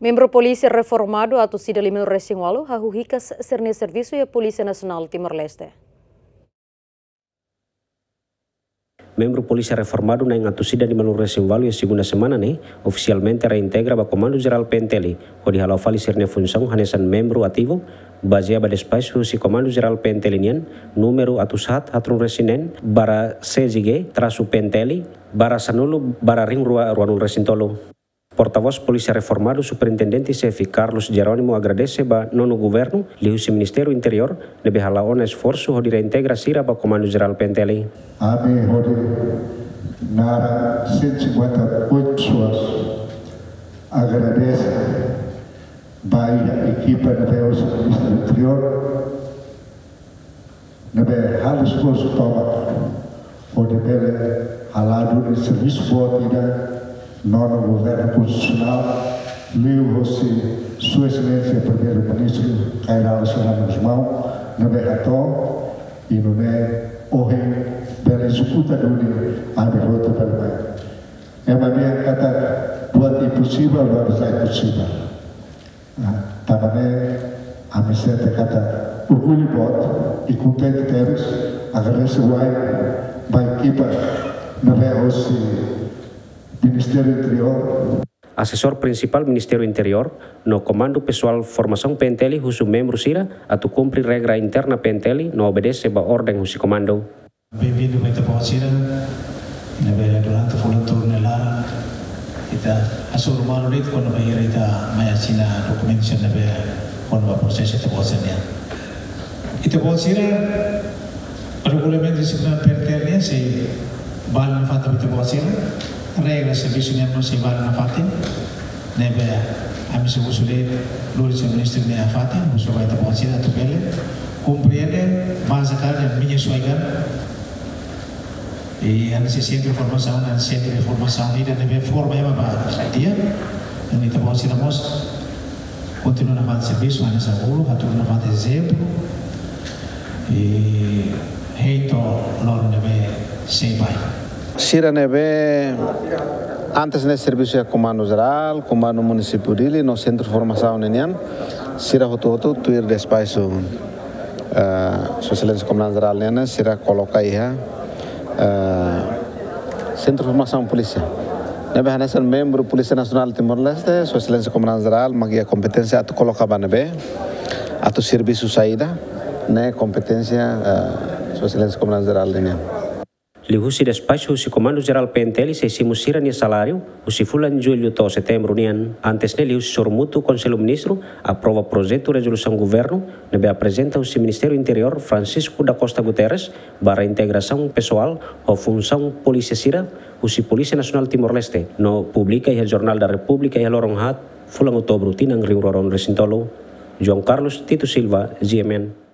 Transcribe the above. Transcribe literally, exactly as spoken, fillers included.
Membru Polísia Reformadu atus ida lima-nulu resin ualu hahú hikas sira-nia servisu iha Polísia Nasionál Timor-Leste. Membru Polísia Reformadu na'in atus ida lima-nulu resin ualu iha segunda semana ne'e ofisialmente reintegra ba Komandu Jerál P N T L, hodi hala'o fali sira-nia funsaun hanesan membru ativu, bazeia ba despaxu husi Komandu Jerál P N T L nian, númeru atus haat haat-nulu resin neen, barra C J G, trasu P N T L, barra sanulu, barra rihun rua rua-nulu resin tolu. Portavós Polísia Reformadu Superintendente Xefe Carlos Jerónimo agradese ba Nonu Governu, liuhusi Ministériu Interiór, ne'ebé hala'o ona esforsu hodi reintegra sira ba Komandu Jerál P N T L. Ami hodi naran cento e cinquenta e oito pessoas agradese ba iha ekipa ne'ebé hosi Ministériu Interiór, ne'ebé halo esforsu tomak hodi bele hala'o duni servisu boot ida Nonu Governu Konstitusionál, liuhusi Sua Exelénsia Primeiru-Ministru Kay Rala Xanana Gusmão, ne'ebé hato'o, i nune'e ohin bele ezekuta duni ami hotu bele mai. Ema dehan katak buat imposivel, buat sai posivel. Ah, tanba ne'e, ami sente katak orgullu boot i kontente tebes, agradese wa'in ba ekipa ne'ebé hosi Ministériu Interiór. Asesór Prinsipál Ministériu Interiór no Komandu Pesoál Formasaun P N T L husu membru sira atu kumpre regra interna P N T L no obedese ba orden husi komandu. Benvindu ba ita-boot sira ne'ebé durante fulan tolu nia laran ita hasoru malu de'it kona-ba ita mai asina dokumentu sira ne'ebé kona-ba prosesu ita-boot sira nian. Ita-boot sira, regulamentu disiplina P N T L nian sei vale nafatin ba ita-boot sira, regra servisu nian mós sei vale nafatin. Ne'ebé ami sei husu de'it, lori señór ministru nia fatin, husu ba ita-boot sira atu bele komprende, bazeia katak menyesuaikan. I ami sei sentru formasaun, ami sentru formasaun ida ne'ebé forma ema ba di'ak. I ita-boot sira mós kontinua nafatin servisu, ami sei bolu, atu nafatin ezemplu. I hein to'o loron ne'ebé sei bá. Sira ne'ebé antes ne'e servisu iha Komandu Jerál, Komandu Munisípiu Dili, no Sentru Formasaun ninian, sira hotu-hotu tuir despaxu, eh, Sua Exelénsia Komandante Jerál nian, sira koloka iha, eh, Sentru Formasaun Polísia. Ne'ebé hanesan membru Polísia Nasionál Timor-Leste, Sua Exelénsia Komandante Jerál mak iha kompeténsia atu koloka ba ne'ebé, atu servisu saida, ne'e kompeténsia, eh, Sua Exelénsia Komandante Jerál nian. Liuhusi despaxu husi Komandu Jerál P N T L sei simu sira-nia saláriu husi fulan Jullu to'o Setembru nian. Antes ne'e liuhusi sorumutu Konsellu Ministru aprova projetu rezolusaun governu ne'ebé aprezenta husi Ministériu Interiór Francisco da Costa Guterres ba reintegrasaun pesoál ho funsaun polísia sira husi Polísia Nasionál Timor-Leste no publika iha Jornál da Repúblika iha loron haat fulan Outubru tinan rihun rua rua-nulu resin tolu. João Carlos Tito Silva, G M N.